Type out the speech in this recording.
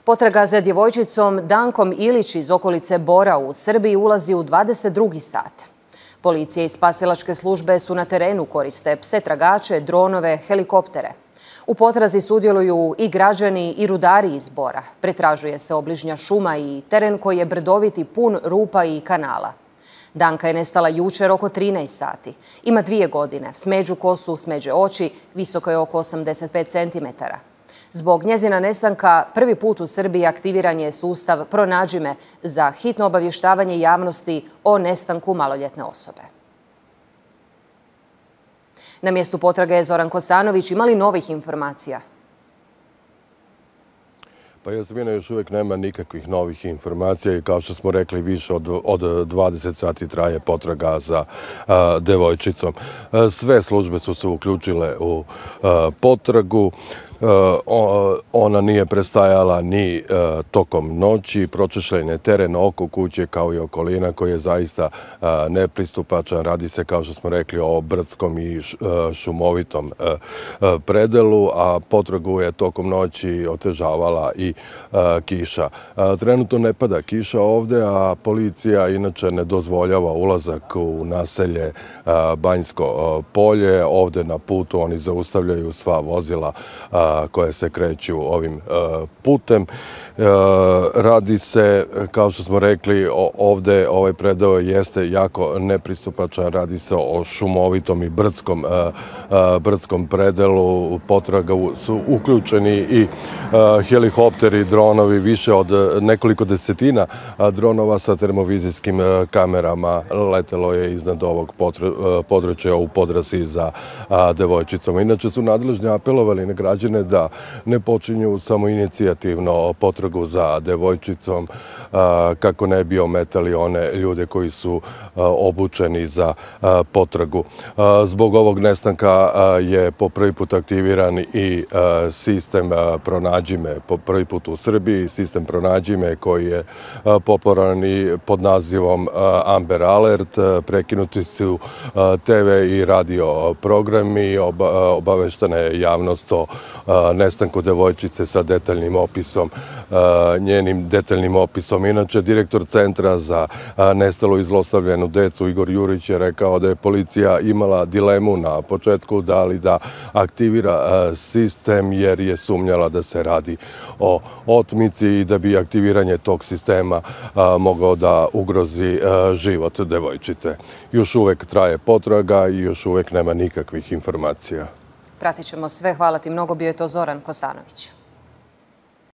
Potraga za djevojčicom Dankom Ilić iz okolice Bora u Srbiji ulazi u 22. sat. Policija i spasilačke službe su na terenu, koriste pse tragače, dronove, helikoptere. U potrazi sudjeluju i građani i rudari iz Bora. Pretražuje se obližnja šuma i teren koji je brdovit i pun rupa i kanala. Danka je nestala jučer oko 13 sati. Ima 2 godine, smeđu kosu, smeđe oči, visoko je oko 85 cm. Zbog njezina nestanka prvi put u Srbiji aktiviran je sustav Pronađi me za hitno obavještavanje javnosti o nestanku maloljetne osobe. Na mjestu potrage je Zoran Kosanović. Ima li novih informacija? Pa Jasmina, još uvijek nema nikakvih novih informacija i kao što smo rekli, više od 20 sati traje potraga za devojčicom. Sve službe su se uključile u potragu. Ona nije prestajala ni tokom noći. Pročešljen je teren oko kuće kao i okolina koji je zaista nepristupačan. Radi se, kao što smo rekli, o brdskom i šumovitom predelu, a potragu je tokom noći otežavala i kiša. Trenutno ne pada kiša ovde, a policija inače ne dozvoljava ulazak u naselje Banjsko polje. Ovde na putu oni zaustavljaju sva vozila koje se kreću ovim putem. Radi se, kao što smo rekli, ovde ovaj predeo jeste jako nepristupačan. Radi se o šumovitom i brdskom predelu. U potragu su uključeni i helikopteri, dronovi, više od nekoliko desetina dronova sa termovizijskim kamerama letelo je iznad ovog područja u potrazi za devojčicom. Inače su nadležni apelovali na građane da ne počinju samoinicijativno potragu za devojčicom kako ne bi ometali one ljude koji su obučeni za potragu. Zbog ovog nestanka je po prvi put aktiviran i sistem Pronađi me, po prvi put u Srbiji, sistem Pronađi me koji je popularan i pod nazivom Amber Alert. Prekinuti su TV i radio programi, obaveštena je javnost o nestanku devojčice sa detaljnim opisom, njenim detaljnim opisom. Inače, direktor Centra za nestalu i zlostavljenu decu Igor Jurić je rekao da je policija imala dilemu na početku da li da aktivira sistem jer je sumnjala da se radi o otmici i da bi aktiviranje tog sistema mogao da ugrozi život devojčice. Još uvek traje potraga i još uvek nema nikakvih informacija. Pratit ćemo sve. Hvala ti mnogo. Bio je to Zoran Kosanović.